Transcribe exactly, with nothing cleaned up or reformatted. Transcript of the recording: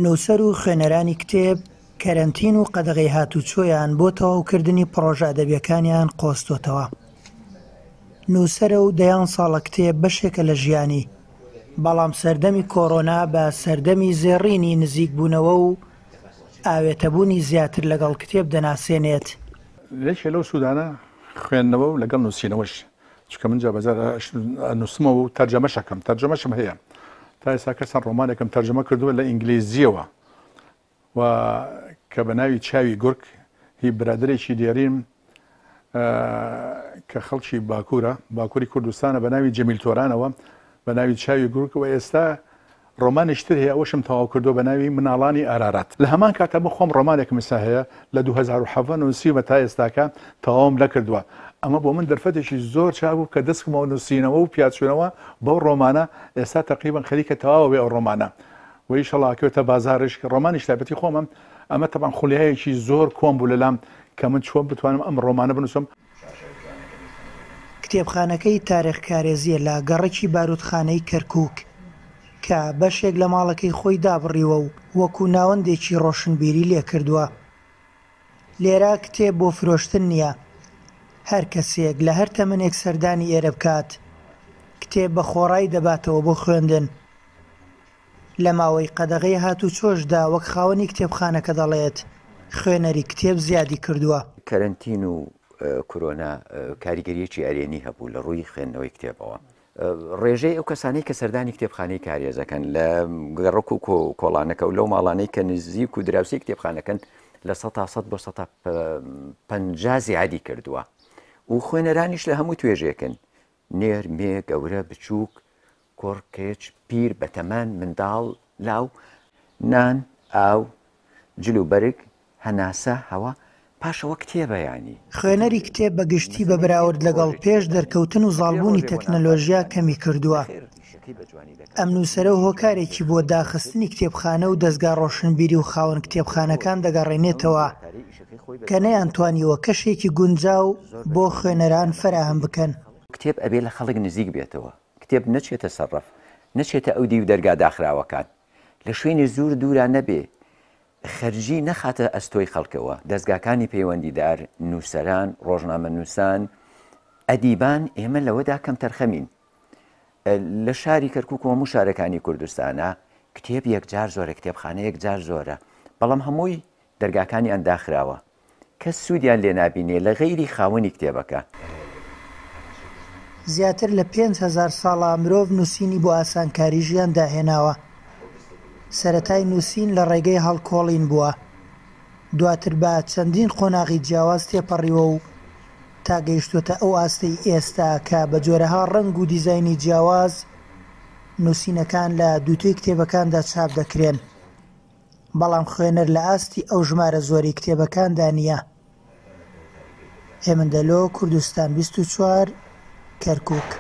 نووسەر و خوێنەرانی کتێب کەرەنتین و قەدەغەی هاتوچۆیان بۆ تەواوکردنی پڕۆژە ئەدەبیەکانیان قۆستۆتەوە. نووسەرە و دەیان ساڵە کتێب بەشێکە لە ژیانی، بەڵام سەردەمی کۆرۆنا بە سەردەمی زێڕینی نزیکبوونەوە و ئاوێتەبوونی زیاتر لەگەڵ کتێب دەناسێنێت. یەکێ لەو سوودانە خوێندنەوە و لەگەڵ نووسینەوەش، چونکە من جا بەجار نووسمەوە و تەرجەمەشەکەم، تەرجەمەشم هەیە. تا ئێستا کەسان ڕۆمانێکم تەرجەمە کردووە لە ئینگلیزیەوە و کە بە ناوی چاوی گورگ، هی برادێکی دێرین کە خەڵکی باکوورە، باکووری کوردستانە، بە ناوی جەمیل تۆرانەوە، بە ناوی چاوی گورگ. و ئێستا ڕۆمانیش تر هەیە، ئەوەشم تەواو کردووە بە ناوی مناڵانی ئارارات. لە هەمان کاتە من خۆم ڕۆمانێکم ئێستا هەیە لە دوو هەزار و حەڤدە نووسیومە، تا ئێستاکە تەواوم نەکردووە. ئەمە بۆ من دەرفەتێکی زۆر چاک بوو کە دەستکەمەوە نووسینەوە و پیاچوونەوە بەو ڕۆمانە. ئێستا تقریبا خەریکە تەواوە بێ ئەو ڕۆمانە و ئیشەڵا کەوتە بازاڕیش، ڕۆمانیش تایبەتی خۆمم. ئەمە تەبعەن خولیایەکی زۆر کۆم بوو لەلام کە من چۆن بتوانم ئەم ڕۆمانە بنووسم. کتێبخانەکەی تاریخ کارێزیە لە گەڕەکی باروتخانەی کەرکووک کە بەشێک لە ماڵەکەی خۆی دابڕیوە و وەکو ناوەندێکی ڕۆشنبیری لێکردووە. لێرە کتێب بۆ فرۆشتن نییە، هەر کەسێک لە هەر تەمەنێک سەردانی ئێرە بکات کتێب بە خۆڕای دەباتەوە بۆ خوێندن. لە ماوەی قەدەغەی هاتوچۆشدا وەک خاوەنی کتێبخانەکە دەڵێت خوێنەری کتێب زیادی کردووە. کەرەنتین و کۆرۆنا کاریگەریەکی ئەرێنی هەبوو لە ڕووی خوێندنەوەی کتێبەوە. ڕێژەی ئەو کەسانەی کە سەردانی کتێبخانەی کارێزەکەن لە گەڕەک و کۆڵانەکە و لەو ماڵانەی کە نزیک و دراوسی کتێبخانەکەن لە سەتا سەد بۆ سەتا پەنجا زیادی کردووە و خوێنەرانیش لە هەموو توێژێکن، نێر، مێ، گەورە، بچووک، کوڕ، کچ، پیر، بەتەمان، منداڵ، لاو، نان، ئاو، جل و بەرگ، هەناسە، هەوا، پاشەوە کتێبە. ینی خوێنەری کتێب بە گشتی بە بەراورد لەگەڵ پێش دەرکەوتن و زاڵبوونی تەکنەلۆژیا کەمی کردووە. ئەم نووسەرە هۆکارێکی بۆ داخستنی کتێبخانە و دەستگا ڕۆشنبیری و خاوەن کتێبخانەکان دەگەڕێنێتەوە کە نەیانتوانیوە کەشێکی گونجاو بۆ خوێنەران فەراهەم بکەن. کتێب ئەبێ لە خەڵک نزیک بێتەوە، کتێب نەچێتە سەرڕەف، نەچێتە ئەو دیو دەرگا داخراوەکان، لە شوێنی زۆر دوورا نەبێ، خەرجی نەخاتە ئەستۆی خەڵکەوە. دەستگاکانی پەیوەندیدار، نووسەران، ڕۆژنامەنووسان، ئەدیبان، ئێمە لەوەدا کەم تەرخەمین. لە شاری کەرکووک و هەموو شارەکانی کوردستانە کتێب یەکجار زۆرە، کتێبخانە یەکجار زۆرە، بەڵام هەمووی دەرگاکانیان داخراوە، کەس سوودیان لێ نابینێ لە غەیری خاوەنی کتێبەکە. زیاتر لە پێنج هەزار ساڵە مرۆڤ نووسینی بۆ ئاسانکاری ژیان داهێناوە. سەرەتای نووسین لە ڕێگەی هەڵکۆڵین بووە، دواتر بە چەندین قۆناغی جیاواز تێپەڕیوە و تا گەیشتوتە ئەو ئاستەی ئێستا کە بە جۆرەها ڕەنگ و دیزایانی جیاواز نووسینەکان لە دووتوێی کتێبەکاندا چاپ دەکرێن، بەڵام خوێنەر لە ئاستی ئەو ژمارە زۆری کتێبەکاندا نییە. هێمن دەلۆ، کوردستان بیست و چوار، کەرکووک.